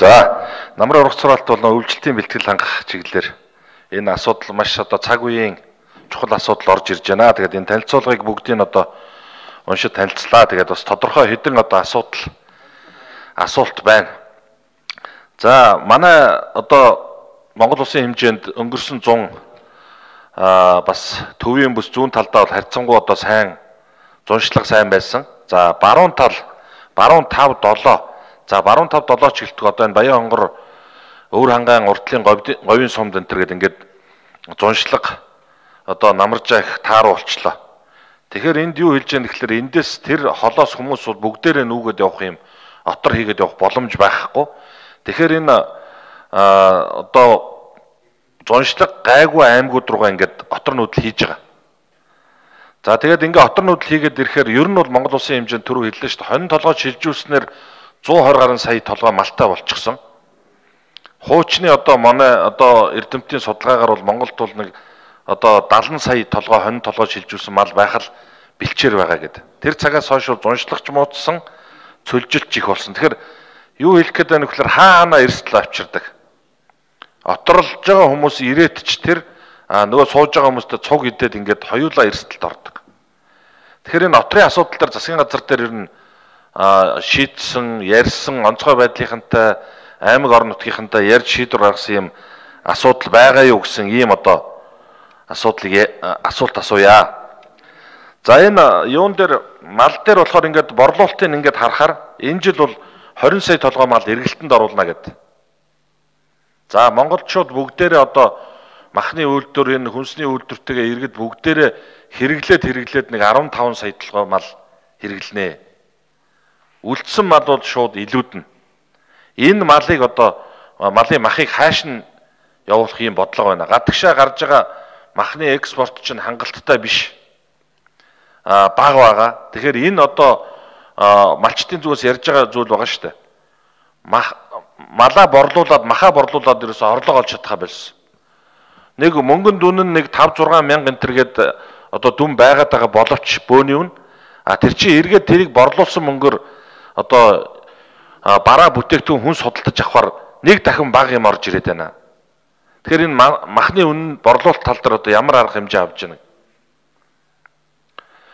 За, намрын ургац сургаалт болон үйлчлэлтийн бэлтгэл хангах чиглэлээр энэ асуудал маш цаг үеийн чухал асуудал орж ирж байна. Тэгээд энэ танилцуулгыг бүгдийг уншиж танилцлаа. Тэгээд бас тодорхой хэдэн асуулт байна. За, манай Монгол улсын хэмжээнд өнгөрсөн 100 бас төвийн бүс зүүн талдаа бол харьцангуй сайн зуншлаг сайн байсан. За, баруун 5-7. За, баруун 5-7 чиглэлт энэ Баян хонгор өвөр хангаан уртлын говийн сумд энэ төр ингээд зуншлаг намаржаа их тааруу болчлоо. Тэгэхээр энд юу хэлж яах гэхээр эндээс тэр холоос хүмүүс бол бүгдээрээ нүүгээд явах юм отор хийгээд явах боломж байхгүй. Тэгэхээр энэ зуншлаг гайгүй аймагуд руугаа ингээд отор нүүдэл хийж байгаа. За, тэгээд ингээд отор нүүдэл хийгээд ирэхээр ер нь бол Монгол улсын хэмжээнд түрүү хэллээ шүү дээ. Хонин толгой шилжүүлснээр 120 гаруй сая толгой малтай болчихсон. Хуучны манай эрдэмтдийн судалгаагаар бол Монголд бол нэг 70 сая толгой хонин толгой шилжүүлсэн мал байх л бэлчээр байгаа гэдэг. Тэр цагаас хойш зуншлагч муудсан, цөлжилт их болсон. Тэгэхээр юу хэлэх гээд байна вэ гэхээр хаана эрсдэл авчирдаг. Оторлж байгаа хүмүүс ирээд ч тэр нөгөө сууж байгаа хүмүүстээ цуг идээд ингээд хоёулаа эрсдэлд ордог. Тэгэхээр энэ отрын асуудал дээр засгийн газар дээр ер нь шийдсэн, ярьсан, онцгой байдлынхантай аймаг орон нутгийнхантай ярьж шийдвэр гаргасан юм асуудал байгаа юу гэсэн ийм асуулт асууя. За, энэ юун дээр мал дээр болохоор ингээд борлуулалтыг ингээд харахаар энэ жил бол 20 сая толгой мал эргэлтэнд оруулна гэдэг. За, монголчууд бүгдээрээ махны үйлдвэр энэ хүнсний үйлдвэртэйгээ иргэд бүгдээрээ хэрэглээд нэг 15 сая толгой мал хэрэглэнэ. Үлдсэн мал бол шууд илүүднэ. Энэ малыг малын махыг хааш нь явуулах юм бодлого байна. Гадагшаа гарч байгаа махны экспорт чинь хангалттай биш. Бага байгаа. Тэгэхээр энэ малчтын зүгээс ярьж байгаа зүйл байгаа шүү дээ. Малаа борлуулад, махаа борлуулад ерөөсө орлого олж чадхаа болсон. Нэг мөнгөн дүн нь нэг 5-6 мянга энтергээд дүн байгаад байгаа боловч бөөний үн. Тэр чинь эргээд тэрийг борлуулсан мөнгөөр бараа бүтээгдэхүүн хүн судалдаж авахар нэг дахин бага юм орж ирээд байна. Тэгэхээр энэ махны үнэ борлуулалт тал дээр ямар арга хэмжээ авч байна.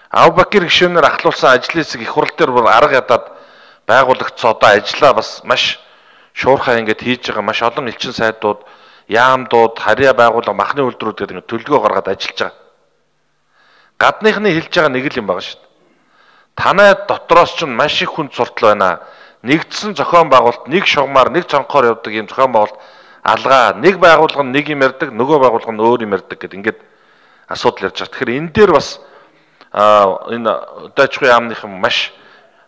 Авбакир гишүүнээр ахлуулсан ажлын хэсэг их хурал дээр арга ядаад байгуулагдсан ажлаа бас маш шуурхай ингээд хийж байгаа маш олон элчин сайдууд, яамдууд, харьяа байгууллага, махны үйлдвэрүүд гэдэг ингээд төлөвлөгөө гаргаад ажиллаж байгаа. Гадныхны хэлж байгаа нэг л юм байгаа шүү дээ. Танай дотроос ч маш их хүнд суртал байна. Нэгдсэн зохион байгуулалт, нэг шугамар, нэг цонхоор явдаг юм зохион байгуулалт алгаа, нэг байгууллага нь нэг юм ярьдаг, нөгөө байгууллага нь өөр юм ярьдаг гэдэг ингээд асуудал ярьж байгаа. Тэгэхээр энэ дээр бас энэ даачгүй яамныхан маш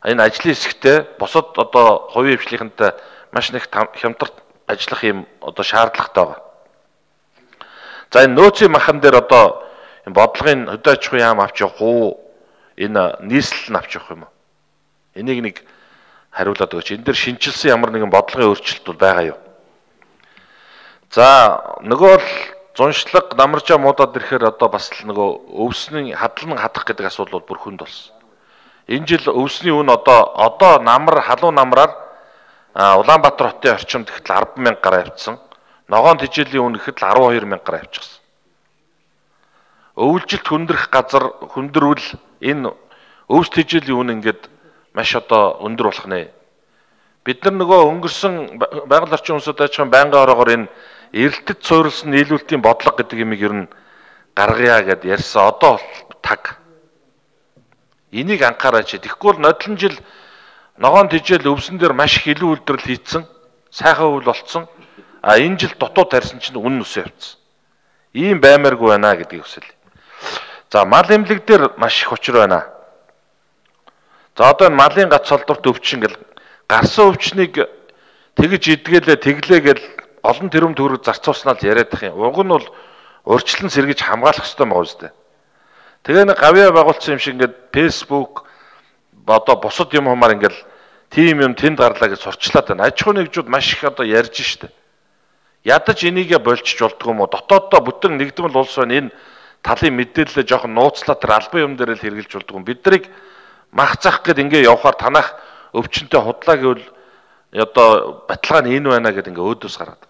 энэ ажлын хэсэгтээ босод хувийн хвшлийнхэнтэй маш нэг хямдгарт ажиллах юм шаардлагатай байгаа. За, энэ нөөцийн махан дээр энэ бодлогын даачгүй яам авч явах уу? Энэ нийслэл нь авч явах юм уу? Энийг нэг хариулаад өгөөч. Энэ дээр шинжилсэн ямар нэгэн бодлогын өөрчлөлт бол байгаа юу? За, нөгөө л зуншлаг намаржаа муудаад ирэхээр бас л нөгөө өвсний хадлан хадах гэдэг асуудал бүр хүнд болсон. Энэ жил өвсний үн халуун намраар Улаанбаатар хотын орчимд гэхэд 100000 гаруй авчихсан. Ногоон тижээлийн үн гэхэд 12000 гаруй авчихсан. Өвлжилт хүндрэх газар хүндрүүл энэ өвс тижээлийн үн ингээд маш өндөр болох нэ. Бид нар нөгөө өнгөрсөн байгаль орчин үндэсний ажлын байнгын ороогоор энэ эрэлтэд суурилсан нийлүүлэлтийн бодлого гэдэг юмыг ер нь гаргая гэд ярьсан. Таг. Энийг анхаараач. Тэгэхгүй бол нодлон жил ногоон тижээл өвсөн дээр маш их илүү үйлдвэрлэл хийцэн, сайхан үйл болцсон. Энэ жил дутуу тарьсан чинь үн нүсээ явцсан. Ийм баймааргүй байна гэдгийг хүсэл. За, мал эмнэлэг дээр маш их учир байна. За, энэ малын гац солдорт өвчин гэл гарсан өвчнийг тэгж тэглээ гэл олон тэрүүм төгрөг зарцуулснаа л яриад их юм. Уг нь бол урьдчилан сэргийж хамгаалах хэрэгтэй байгаа үстэй. Тэгээ нэг гавьяа байгуулсан юм шиг ингээд Facebook бусад юм хумаар ингээд тийм юм тэнд гарлаа гэж сурчлаад байна. Аж ахуй нэгжүүд маш их ярьж штэ. Ядаж энийгээ болчих болдгоо юм уу? Дотооддоо бүтэн нэгдмэл улс байна. Энэ талын мэдээлэлээ жоохон нууцлаа тэр албан юм дээр л хэрэгжилж болдгоо. Бид нарыг мах зах гэд ингээ явахаар танах өвчнөд худлаа гэвэл одоо баталгаа нь энэ байна гэдэг ингээ өөдөөс гараад.